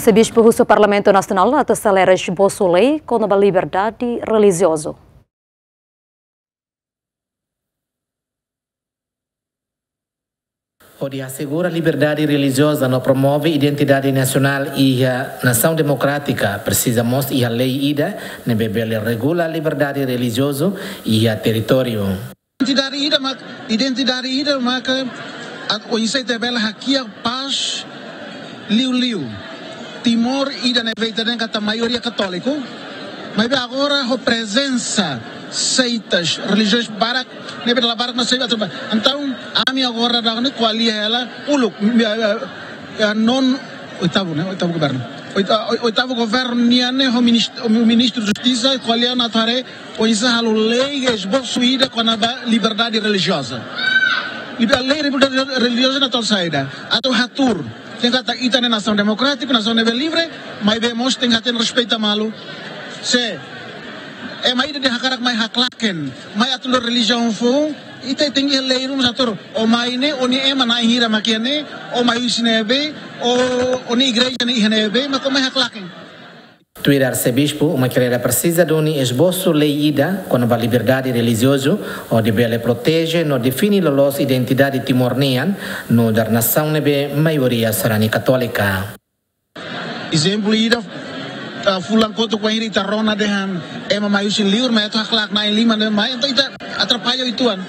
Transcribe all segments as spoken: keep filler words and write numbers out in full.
Sebispu husu Parlamentu Nasionál atu aselera esbosu lei kona-ba liberdade relijiozu. Hodi asegura liberdade relijioza no promove identidade nasionál iha nasaun demokrátika, presiza mós iha lei ida ne'ebé bele regula liberdade relijiozu iha territóriu. Identidade ida mak, identidade ida maka atu oinsá ita bele hakiak pás liuliu. Timor ida ne'ebé ita dehan katak maioria katóliku, maibé agora ho prezensa seitas, relijiões barak, ne'ebé dala barak mak sei atu ba. Entaun, ami agora daudaun ne'e ko'alia hela uluk, eh, eh, eh, non oitavu, ne'e, oitavu governu. Oita-, oi-, oitavu governu nian ne'e ho minist-, ho ministru justisa ko'alia ona atu haree oinsá halo lei esbosu ida kona-ba liberdade relijioza. Liber-, lei liberdade relijioza ne'e atu saida? Atu hatuur. Dehan katak ita ne'e nasaun demokrátiku, nasaun ne'ebé livre, maibé mós tenke hatene respeita malu. Se ema ida dehan hakarak mai haklaken, mai atu lori relijiaun foun, ita tenke iha lei ruma atu hatuur. Ó mai ne'e, ó-nia ema na'in hira mak iha ne'e, ó mai husi ne'ebé, ó, ó-nia igreja ne'e iha ne'ebé, mak ó mai haklaken. Tuir arsebispu, Uma Kreda presiza duni esbosu lei ida kona-ba liberdade relijiozu, hodi bele proteje no define loloos identidade Timor nian, nu'udar nasaun ne'ebé maioria sarani katólika. Ezemplu ida, ah, fulan kotuk bainhira ita rona dehan ema mai husi liur, mai atu haklak na'in lima ne'e mai, entaun ita atrapalla uitoan.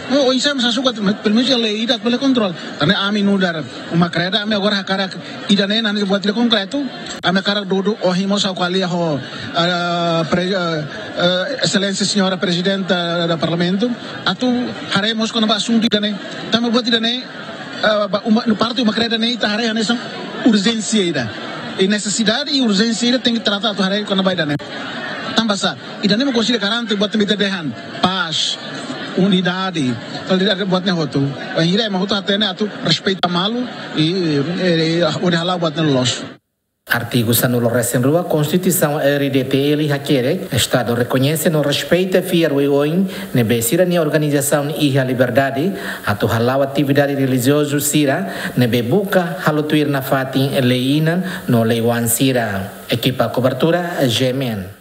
No, oinsá ema sei sukat, pelumenus iha lei ida bele kontrola. Tanba ami nu'udar Uma Kreda, ami agora hakarak ida-ne'e, ida-ne'e buat ida konkretu, ami hakarak dudu, ohin mós ha'u ko'alia ho, ah, pre-, ah, ah, Exelénsia Señora Prezidente do Parlamentu, atu haree mós kona-ba asuntu ida-ne'e. Tanba buat ida-ne'e, ah, ba, Uma, no parte Uma Kreda ne'e, ita haree hanesan urjénsia ida. I nesesidade i urjénsia ida tenke trata atu haree kona-ba ida-ne'e. Tanba sá, ida-ne'e mak konsege garante buat ne'ebé ita dehan, pás, unidade, solidariedade buat ne'e hotu. Bainhira ema hotu hatene atu respeita malu i, i, i, hodi hala'o buat ne'e loloos. Artigu sanulu-resin-rua Konstituisaun R D T L hakerek, Estadu rekoñese no respeita fiar oioin ne'ebé sira-nia organizasaun iha liberdade atu hala'o atividade relijiozu sira ne'ebé buka halo tuir nafatin lei inan no lei-oan sira. Ekipa kobertura, G M N.